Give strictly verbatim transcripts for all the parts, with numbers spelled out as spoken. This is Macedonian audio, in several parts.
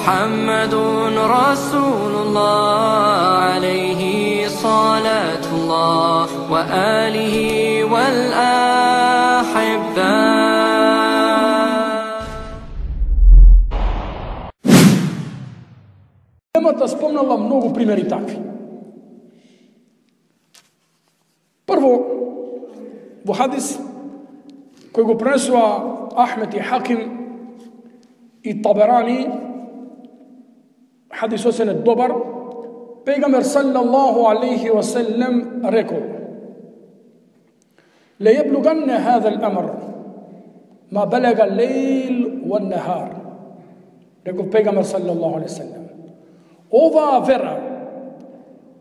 محمد رسول الله عليه صلاة الله وآله والأحبة. Темата спомнала многу примери такви. Прво, во хадис кој го пренесува Ахмед и Хаким и Таберани, хадис осен е добар, пегамбер саллаллаху алейхи ва саллем рекол: "Ла јаблуганна хаза ал-амр ма балага лейл ва нахар." Рекол пегамбер саллаллаху алейхи ва саллем: ова вера,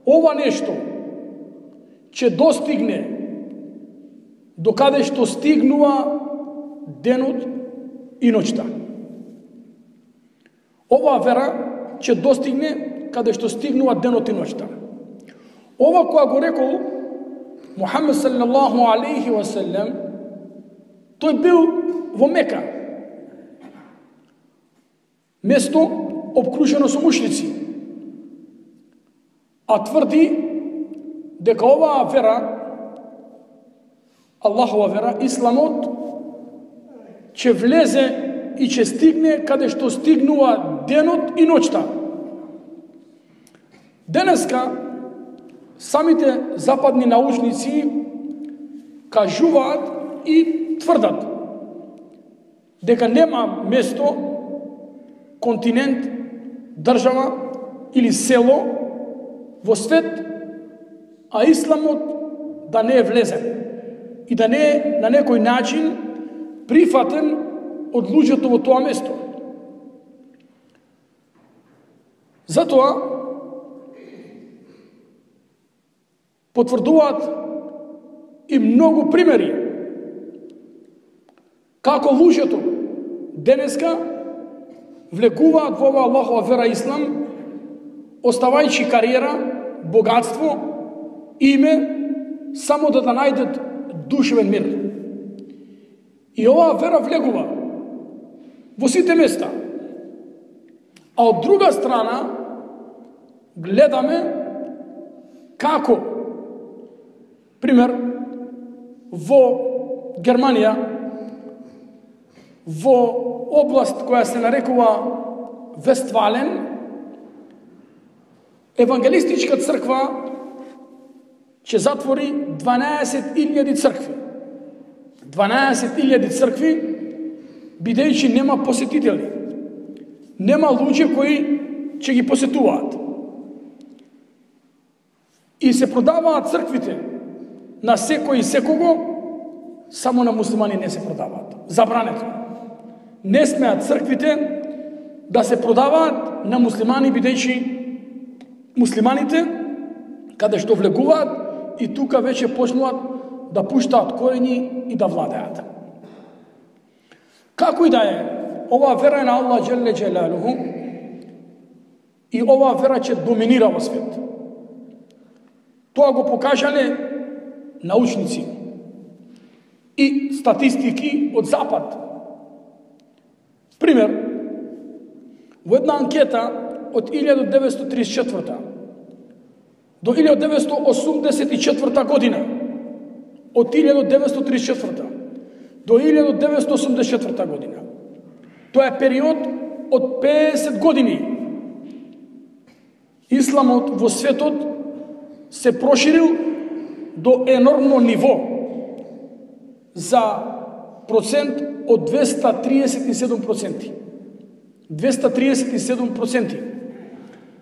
ова нешто ќе достигне до каде што стигнува денот и ноќта. Ова вера ќе достигне каде што стигнува денот и ноќта. Ова која го рекол Мухамед саллаллаху алейхи ва саллем, тој бил во Мека, место обкружено со мушрици, а тврди дека оваа вера, Аллахова вера, исламот, ќе влезе и ќе стигне каде што стигнува денот и ноќта. Денеска самите западни научници кажуваат и тврдат дека нема место, континент, држава или село во свет, а исламот да не е влезен и да не е на некој начин прифатен од луѓето во тоа место. Затоа потврдуваат и многу примери како луѓето денеска влегуваат во оваа Аллахова вера ислам, оставајќи кариера, богатство, име, само да да најдат душевен мир. И оваа вера влегува во сите места. А од друга страна гледаме како, пример, во Германија, во област која се нарекува Вестфален, евангелистичка црква ќе затвори дванаесет илјади цркви. дванаесет илјади цркви, бидејќи нема посетители. Нема луѓе кои ќе ги посетуваат. И се продаваат црквите на секој и секого, само на муслимани не се продаваат. Забрането. Не смеат црквите да се продаваат на муслимани, бидејќи муслиманите, каде што влегуваат, и тука веќе почнуваат да пуштаат корени и да владеат. Како и да е, оваа вера е на Аллах џелле џелалуху и оваа вера ќе доминира во свет. Тоа го покажале научници и статистики од Запад. Пример, во една анкета од илјада деветстотини тридесет и четврта до илјада деветстотини осумдесет и четврта година, од илјада деветстотини тридесет и четврта до илјада деветстотини осумдесет и четврта година. Тоа е период од педесет години. Исламот во светот се проширил до енормно ниво за процент од двеста триесет и седум проценти. двеста триесет и седум проценти.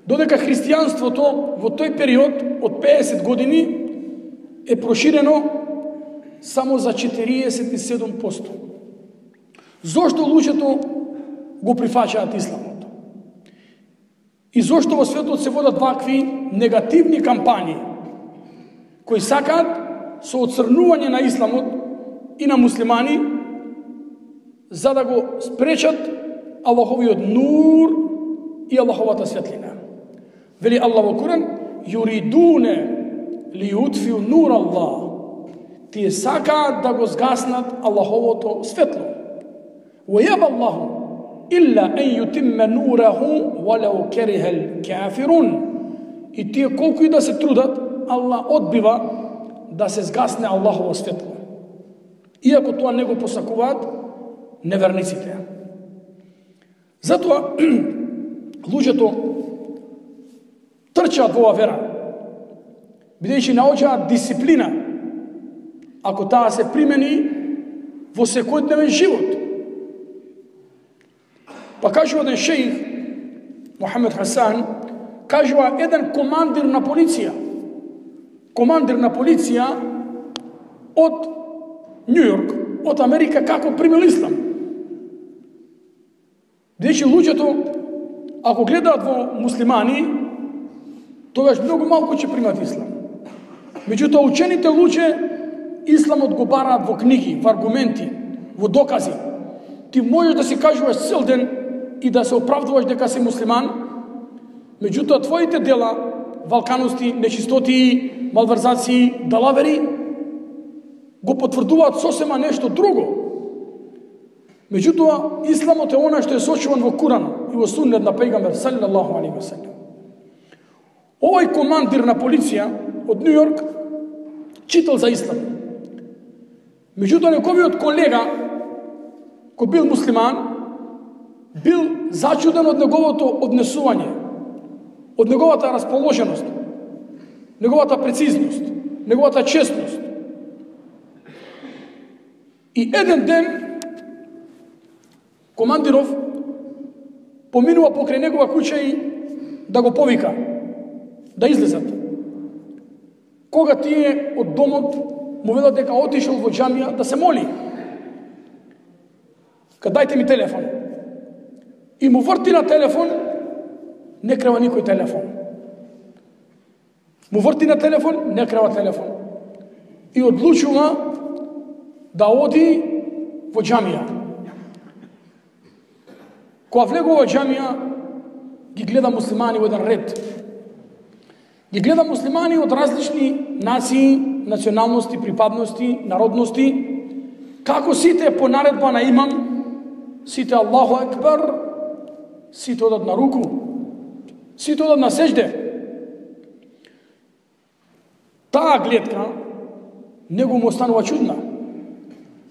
Додека христијанството во тој период од педесет години е проширено само за четириесет и седум проценти. Зошто луѓето го прифаќаат исламот? И зошто во светот се водат вакви негативни кампањи кои сакаат со оцрнување на исламот и на муслимани за да го спречат Аллаховиот нур и Аллаховата светлина. Вели Аллах во Куран: "Юридуне ли утфиу нур Аллах." Тие сакаат да го згаснат Аллаховото светло. "Ва јаба Аллаху Illa en yutimme nurahu walau kerihel kafirun. И тие колку и да се трудат, Аллах одбива да се згасне Аллахово светло. Иако тоа не го посакуваат неверниците. Затоа луѓето трчаат во оваа вера, бидејќи научаат дисциплина, ако таа се примени во секојдневен живот. Па кажува еден шејх, Мухамед Хасан, кажува еден командир на полиција, командир на полиција од Нью Йорк, од Америка, како примил ислам. Бидејќи луѓето, ако гледаат во муслимани, тогаш многу малку ќе примат ислам. Меѓутоа, учените луѓе исламот го бараат во книги, во аргументи, во докази. Ти можеш да си кажуваш цел ден и да се оправдуваш дека си муслиман, меѓутоа твоите дела, валканости, нечистоти, малверзации, далавери, го потврдуваат сосема нешто друго. Меѓутоа, исламот е она што е сочуван во Куран и во суннет на пејгамбер салаллаху алейхи ве селем. Овој командир на полиција од Нью Йорк читал за ислам. Меѓутоа, неговиот колега, кој бил муслиман, бил зачуден од неговото однесување, од неговата расположеност, неговата прецизност, неговата честност. И еден ден командиров поминува покрај негова куќа и да го повика, да излезат. Кога тие од домот му велат дека отишел во џамија да се моли. Кај дајте ми телефон. И му врти на телефон, не крива никој телефон. Му врти на телефон, не крива телефон. И одлучува да оди во џамија. Кога влегува во џамија, ги гледа муслимани во еден ред. Ги гледа муслимани од различни нации, националности, припадности, народности, како сите по наредба на имам, сите Аллаху екбар, сите одат на руку, сите одат на сежде. Таа гледка него му останува чудна.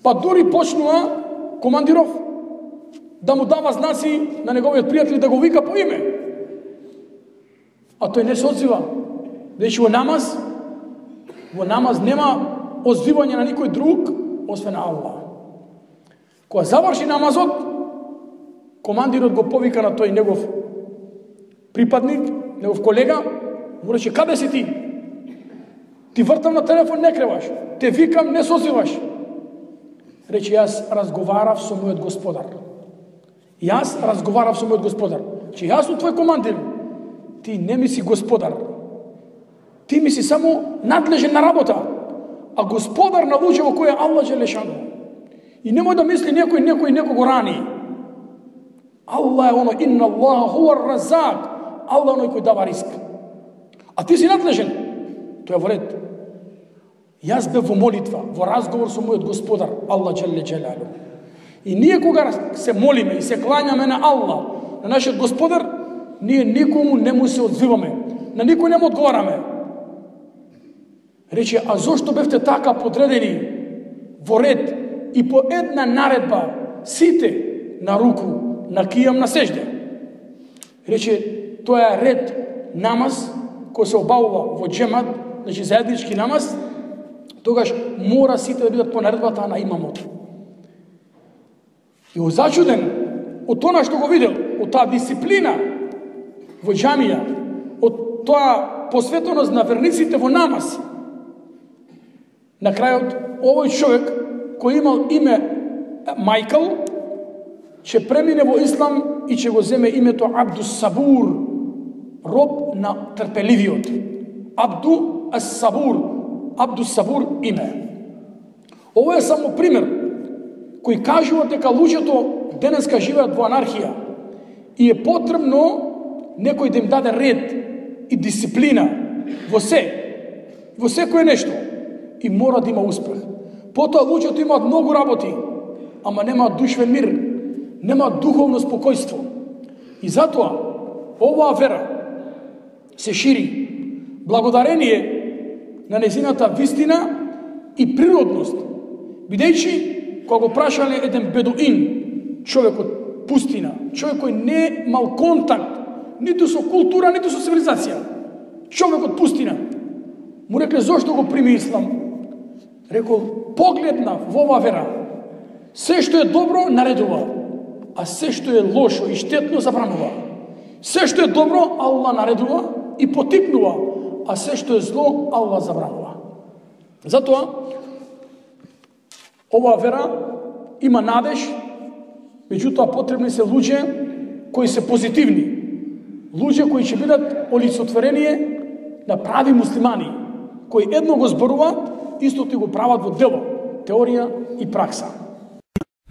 Па дури почнува командиров да му дава знаци на неговиот пријател да го вика по име. А тој не се одзива. Дечи во намаз, во намаз нема озвивање на никој друг, освен Аллах. Кога заврши намазот, командирот го повика на тој негов припадник, негов колега, му рече, каде си ти? Ти вртам на телефон, не креваш. Те викам, не созиваш. Рече, јас разговарав со мојот господар. Јас разговарав со мојот господар. Че јас сум твој командир. Ти не ми си господар. Ти ми си само надлежен на работа. А господар на луѓе во која Аллах Джелешану. И немој да мисли некој, некој, некој го рани. Аллах е оно, инна Аллах хуар разак. Аллах е оној кој дава риск. А ти си надлежен. Тоа е во ред. Јас бев во молитва, во разговор со мојот господар, Аллах Джеле Джелалу. И ние кога се молиме и се клањаме на Аллах, на нашиот господар, ние никому не му се одзиваме, на никој не му одговараме. Рече, а зошто бевте така подредени во ред и по една наредба сите на руку, на кијам, на сежде? Рече, тоа е ред намаз кој се обавува во џемат, значи заеднички намаз, тогаш мора сите да бидат по наредбата на имамот. И озачуден од тоа што го видел, од таа дисциплина во џамија, од тоа посветеност на верниците во намаз, на крајот овој човек кој имал име Мајкл, ќе премине во ислам и ќе го земе името Абду Сабур, роб на трпеливиот. Абду Ас-Сабур, Абду Сабур име. Ово е само пример кој кажува дека луѓето денеска живеат во анархија и е потребно некој да им даде ред и дисциплина во се, во секое нешто, и мора да има успех. Потоа луѓето имаат многу работи, ама немаат душевен мир, нема духовно спокојство. И затоа оваа вера се шири благодарение на незината вистина и природност. Бидејќи кога го прашале еден бедуин, човек од пустина, човек кој не имал контакт ниту со култура, ниту со цивилизација, човек од пустина, му рекле зошто го прими ислам? Рекол, погледнав во оваа вера, се што е добро наредува, а се што е лошо и штетно забранува. Се што е добро Аллах наредува и потикнува, а се што е зло Аллах забранува. Затоа оваа вера има надеж, меѓутоа потребни се луѓе кои се позитивни, луѓе кои ќе бидат олицетворение на прави муслимани, кои едно го зборуваат, истото го прават во дело, теорија и пракса.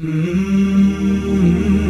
Mm-hmm.